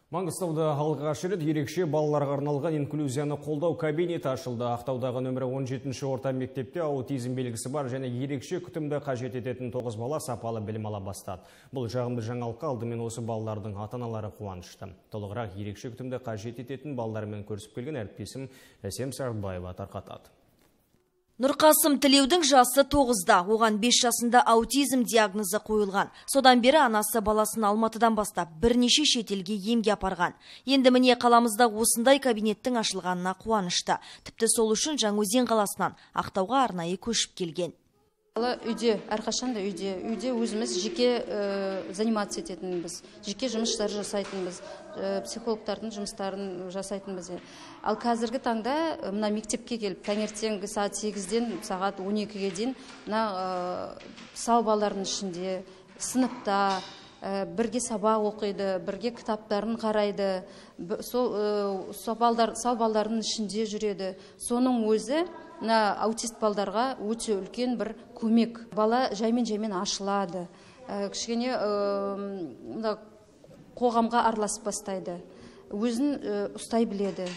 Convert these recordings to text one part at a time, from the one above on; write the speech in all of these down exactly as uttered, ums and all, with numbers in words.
Маңғыстауда алғаш рет ерекше балаларға арналған инклюзияны қолдау кабинеті ашылды. Ақтаудағы нөмірі он жетінші орта мектепте аутизм белгісі бар және ерекше күтімді қажет ететін тоғыз бала сапалы білім ала бастады. Бұл жағымды жаңалыққа алдымен осы балалардың ата-аналары қуанышты. Толығырақ ерекше күтімді қажет ететін балалармен көрісіп келген әріптесім Әсем Сартбаева тарқатады. Нұрқасым Тілеудің жасы тоғызда, оған бес жасында аутизм диагнозы қойылған. Содан бері анасы баласын Алматыдан бастап бірнеше шетелге емге апарған. Енді міне қаламызда осындай кабинеттің ашылғанына қуанышты. Тіпті сол үшін Жаңаөзен қаласынан Ақтауға арнайы көшіп келген. Үйде, әрқашанда үйде, үйде өзіміз жеке ә, занимация ететінбіз, жеке жұмыстар жасайтынбыз, ә, психологтардың жұмыстарын жасайтынбыз. Ал қазіргі таңда мына мектепке келіп, таңертеңгі сағат сегізден сағат он екіге дейін мына ә, сау балалардың ішінде, сыныпта, ә, бірге сабақ оқиды, бірге кітаптарын қарайды, сол ә, сау балалардың ішінде жүреді. Соның өзі мына аутист балдарға өте үлкен бір көмек. Бала жаймен-жаймен ашылады. Ә, кішкене ә, қоғамға араласып бастайды. Өзін ә, ұстай біледі.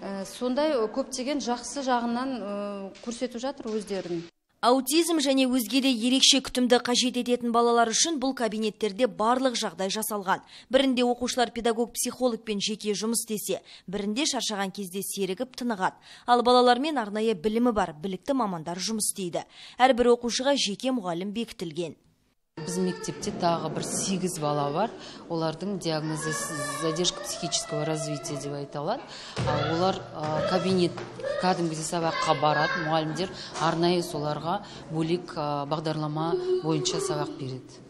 Ә, сондай көптеген жақсы жағынан ә, көрсетіп жатыр өздерін. Аутизм және өзге де ерекше күтімді қажет ететін балалар үшін бұл кабинеттерде барлық жағдай жасалған. Бірінде оқушылар педагог-психологпен жеке жұмыс істесе, бірінде шаршаған кезде серігіп тынығады. Ал балалармен арнайы білімі бар білікті мамандар жұмыс істейді. Әрбір оқушыға жеке мұғалім бекітілген. Біз мектепте тағы бір сегіз бала бар. Олардың диагнозы задержка психического развития деп айтылады. Олар кабинет кәдімгідей сабаққа барады, мұғалімдер арнайы соларға бөлек бағдарлама бойынша сабақ береді.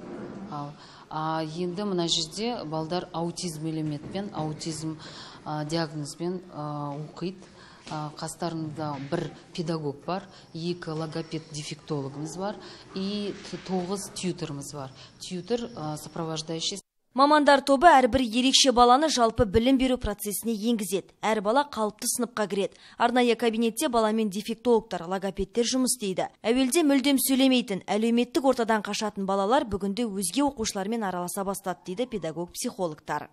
Енді мына жерде балдар аутизм элементпен, аутизм диагнозбен оқиды. Қастарында бір педагог бар, екі логопед-дефектологымыз бар и тоғыз тьюторымыз бар. Тьютор сопровождающий. Мамандар тобы әрбір ерекше баланы жалпы білім беру процесіне енгізеді. Әр бала қалыпты сыныпқа кіреді. Арнайы кабинетте баламен дефектологтар, логопедтер жұмыс істейді. Әуелде мүлдем сөйлемейтін, әлеуметтік ортадан қашатын балалар бүгінде өзге оқушылармен араласа бастады дейді педагог-психологтар.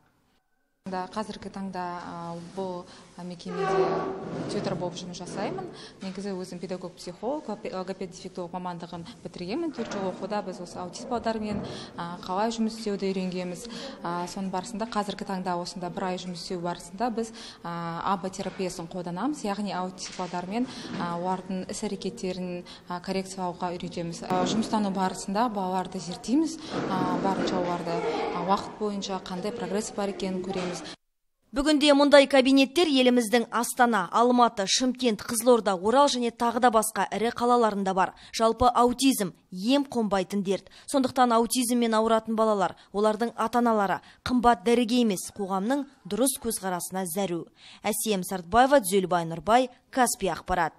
Қазіргі таңда бұл мекемеде тьютор болып жұмыс жасаймын. Негізі өзім педагог-психолог, логопед-дефектолог мамандығын бітіргенмін. төрт жыл оқуда біз осы аутист балдармен қалай жұмыс істеуді үйренгенбіз. Соның барысында қазіргі таңда осында бір ай жұмыс істеу барысында біз АБА терапиясын қолданамыз, яғни аутист балдармен олардың іс-әрекеттерін коррекциялауға үйретеміз. Жұмыстану барысында балаларды зерттейміз, барынша оларды уақыт бойынша қандай прогресс бар екенін көреміз. Бүгінде мұндай кабинеттер еліміздің Астана, Алматы, Шымкент, Қызылорда, Орал және тағы да басқа ірі қалаларында бар. Жалпы аутизм ем қонбайтын дерт. Сондықтан аутизммен ауыратын балалар, олардың ата-аналары қымбат дәріге емес, қоғамның дұрыс көзқарасына зәру. Әсем Сартбаева, Нұрбай, Каспий ақпарат.